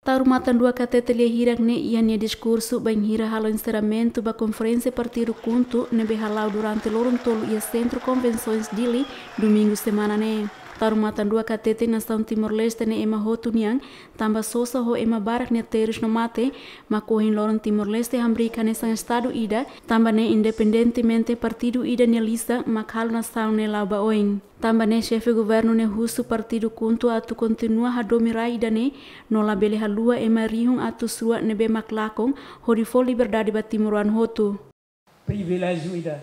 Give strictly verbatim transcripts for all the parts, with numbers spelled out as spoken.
Taur Matan Ruak hatete lia hirak ne'e iha nia diskursu bainhira halo enserramentu ba konferénsia partidu KHUNTO ne'ebé hala'o durante loron tolu iha Sentru Konvensoens Dili, Domingu semana ne'e. Taur Matan Ruak hatete nasaun Timor-Leste ne'e ema hotu nian, tanba sosa ho ema barak nia terus no mate, mak ohin loron Timor-Leste hamriik hanesan estadu ida, tanba ne'e independentemente partidu ida nia lisan mak halo nasaun ne'e la'o ba oin. Tanba ne'e xefe governu ne'e husu partidu KHUNTO atu kontinua hadomi rai ida-ne'e, no labele haluha ema rihun atus rua ne'ebé mak lakon, hodi fó liberdade ba timoroan hotu. Priviléjiu ida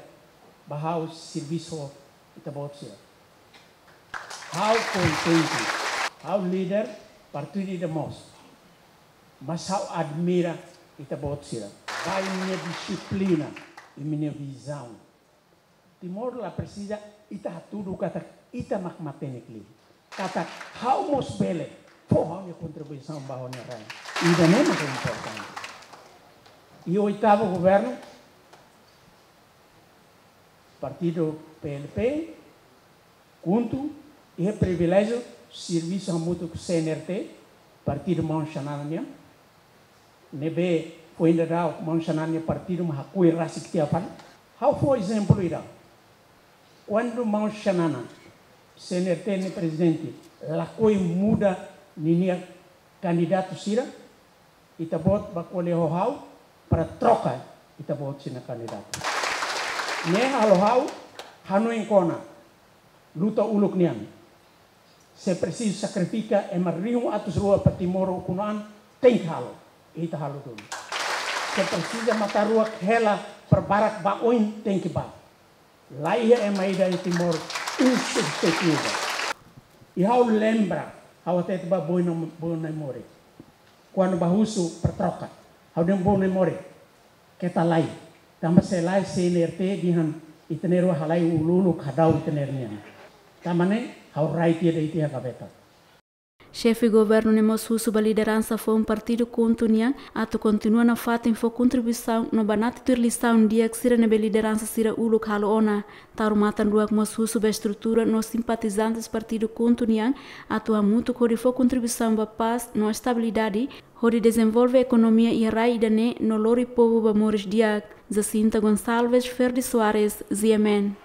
ba ha'u servisu ho ita-boot sira. Ha'u kontente, ha'u líder partidu ida mós. Mas ha'u admira ita-boot sira. Ba imi-nia dixiplina, imi-nia vizaun. Timor la presiza ita hatudu katak ita mak matenek liu. Katak ha'u mós bele fó ha'u-nia kontribuisaun ba ha'u-nia rai. Ida-ne'e mak importante. I oitavu governu, partidu P L P, KHUNTO, iha priviléjiu servisu hamutuk ho C N R T, partidu maun Xanana nian, ne'ebé foin daudauk maun Xanana nia partidu mak hakoi rasik tiha fali. Ha'u fó ezemplu ida. Kuandu maun Xanana, C N R T nia prezidente, lakohi muda ninia kandidatu sira, ita-boot bá ko'alia ho ha'u para troka ita-boot sira-nia kandidatu. Ne'e halo ha'u hanoin kona luta uluk nian. Se presiza sakrifika ema rihun atus rua para Timor ukun-an, tenke halo. Ita halo duni. Se presiza matan-rua hela para barak ba oin, tenke bá. La iha ema ida iha Timor insubstituivel. I ha'u lembra, ha'u hatete ba Boina, Boina Mori. Kuandu bá husu para troka, ha'u dehan Boina Mori, keta lae. Tanba se lae C N R T dehan ita-nia rua halai uluk-uluk hadau ita-nia nian. Tanba ne'e ha'u rai tiha de'it iha gaveta. Xefe governu ne'e mós husu ba lideransa foun partidu KHUNTO nian atu kontinua nafatin fó kontribuisaun no banati tuir lisaun di'ak sira ne'ebé lideransa sira uluk halo ona. Taur Matan Ruak mós husu ba estrutura no simpatizantes partidu KHUNTO nian atu hamutuk hodi fó kontribuisaun ba pás no estabilidade, hodi dezenvolve ekonomia iha rai ida-ne'e no lori povu ba moris di'ak. Jacinta Gonçalves, Ferdi Soares, G M N.